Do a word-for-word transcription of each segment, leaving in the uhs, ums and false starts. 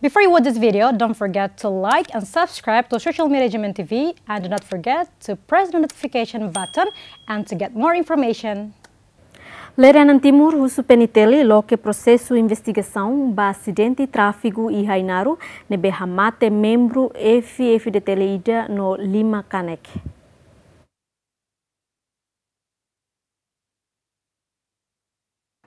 Before you watch this video, don't forget to like and subscribe to social media G M N T V, and do not forget to press the notification button and to get more information. Lere Anan Timur husu P N T L loke prosesu investigasaun ba asidente tráfigu iha Ainaro ne'ebé hamate membru F-FDTL ida no lima kanek.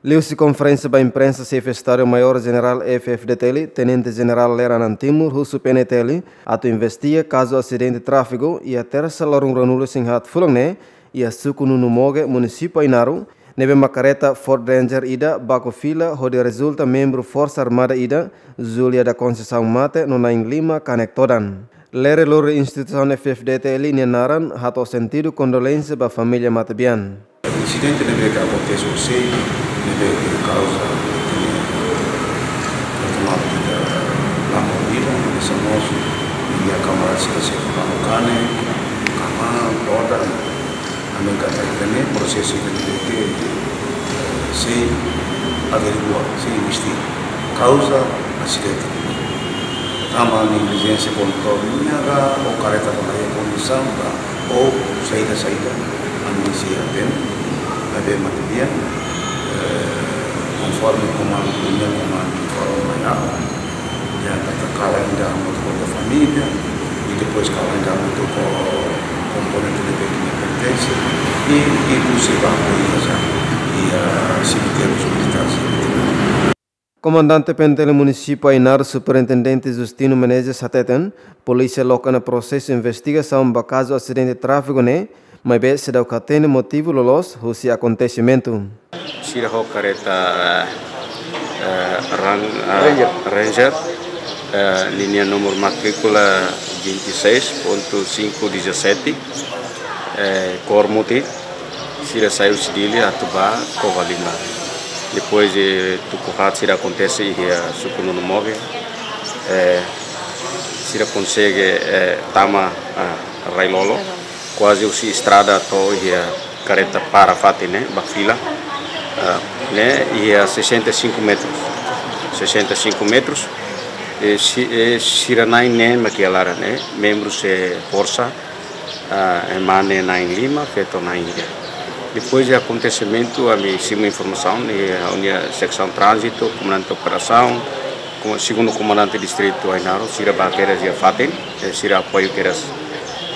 Liuhusi konferénsia ba imprensa, Xefe Estadu Maiór Jenerál F-FDTL, Tenente Jenerál Lere Anan Timur husu P N T L atu investiga kazu asidente tráfigu iha Tersa loron ruanulu-resin-haat fulan ne'e iha suku Nunumoge, munisípiu Ainaro, ne'ebé mak karreta Ford Ranger ida baku fila hodi rezulta membru Forsa Armada ida, Júlia da Conceição, mate no na'in lima kanek todan. Lere lori instituisaun F-FDTL nia naran hato'o sentidu kondolénsia ba família matebian. Insidente ne'ebé ke akontese horisehik, ne'ebé ke kauza, ne'ebé ke tomadu ida la mordida, hanesan mós iha kamarada sira seluk la'o kanek, kama, todan, ami katak ita-nia prosesu ida ne'ebé ke sei averigua, sei investiga kauza asidente. Tanba neglijénsia kondutór nian ka, ou karreta ka la iha kondisaun ka, ou saida-saida, ami sei atende, maibé matebian, eh, konforme komandu, ninia komandu informa mai ha'u, ya, katak kalan ida hamutuk ho família, i depois kalan ida hamutuk ho komponente ne'ebé ke nia pertense, i, i husi banku iha, iha semitériu militár. Komandante P N T L Munisípiu Ainaro, Superintendente Justino Menezes hateten, polísia loke ona prosesu investigasaun ba kazu asidente tráfigu ne'e, maibé seidauk hatene motivu loloos husi akontesimentu. Sira ho karreta, eh, eh, ran-, eh, Ranger. Ranger, eh, ninia númeru matríkula vinte e seis ponto cinco dezassete, eh, kór mutin. Sira sai husi Dili atu ba Covalima. Depois de tuku haat sira akontese iha suku Nunumoge, eh, sira konsege, eh, tama, ah, Railolo, kuaze husi estrada to'o iha karreta para fatin ne'e, ba fila, ah, ne'e iha sessenta e cinco metros. Sessenta e cinco metros, eh, si-, eh, sira na'in neen mak iha laran ne'e, membru Forsa, ah, ema ne'e na'in lima, feto na'in ida. Depois de akontesimentu, ami simu informasaun, i, ah, ita-nia seksaun tránzitu, komandante operasaun, ko-, segundu komandante distritu Ainaro, sira ba kedas iha fatin, eh, sira apoiu kedas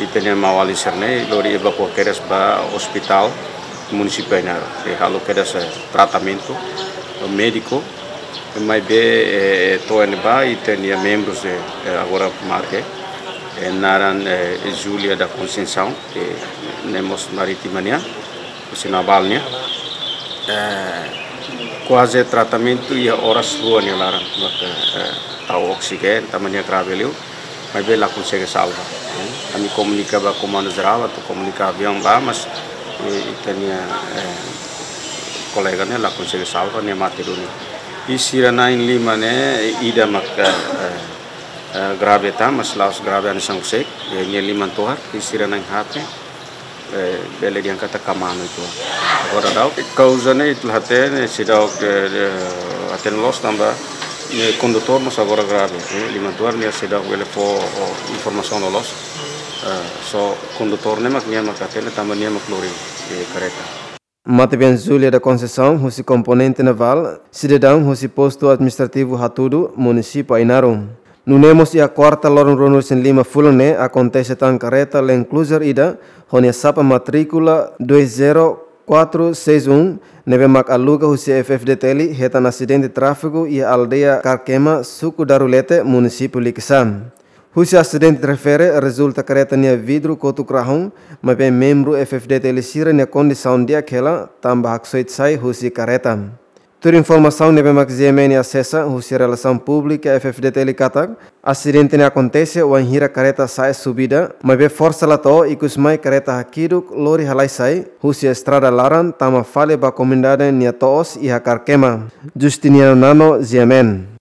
ita-nia maun-alin sira-ne'e, lori evakua kedas ba ospitál munisípiu Ainaro. I halo kedas, eh, tratamentu, eh, médiku, maibé, eh, to'o ne'ebá, ita-nia membru, eh, eh, agora marke, eh, naran, eh, Júlia da Conceição, eh, ne'e mós marítima nian, husi navál nian. Eh, kuaze tratamentu iha oras rua nia laran, maka, eh, tau oksijéniu, tanba nia grave liu, maibé la konsege salva. Eh, ami komunika ba komandu jerál, atu komunika aviaun ba, mas, eh, ita-nia, eh, kolega ne'e la konsege salva, nia mate duni. I sira na'in lima ne'e, ida maka, eh, eh, grave tan, mas la'ós grave hanesan husik, eh, nia liman tohar, i sira na'in haat ne'e, eh, bele dehan katak kama no uitoan. Agora daudaun, kauza ne'e ita la hatene, seidauk, eh, eh, hatene loos tanba, eh, kondutór mós agora grave, eh, liman tohar nia seidauk bele fó, oh, informasaun loloos. Eh, só kondutór ne'e mak nia mak hatene tanba nia mak lori, eh, karreta. Matebian Júlia da Conceição, husi komponente navál, sidadaun husi postu administrativu Hatudu, munisípiu Ainaro. Nune'e mós iha kuarta loron ruanulu-resin-lima fulan ne'e akontese tan karreta Land Cruiser ida, ho nia sapa matríkula dois zero quatro seis um, ne'ebé mak aluga husi F-FDTL, hetan asidente tráfigu iha aldeia Karkema, suku Darulete, munisípiu Likisá. Husi asidente refere, rezulta karreta nia vidru kotuk rahun, maibé membru F-FDTL sira-nia kondisaun di'ak hela, tanba haksoit sai husi karreta. Tuir informasaun ne'ebé mak G M N asesa, husi Relasaun Públika F-FDTL katak, asidente ne'e akontese wainhira karreta sa'e subida, maibé forsa la to'o, ikusmai karreta hakiduk lori halai sai husi estrada laran, tama fali ba komunidade nia to'os iha Karkema. Justiniano Nano, G M N.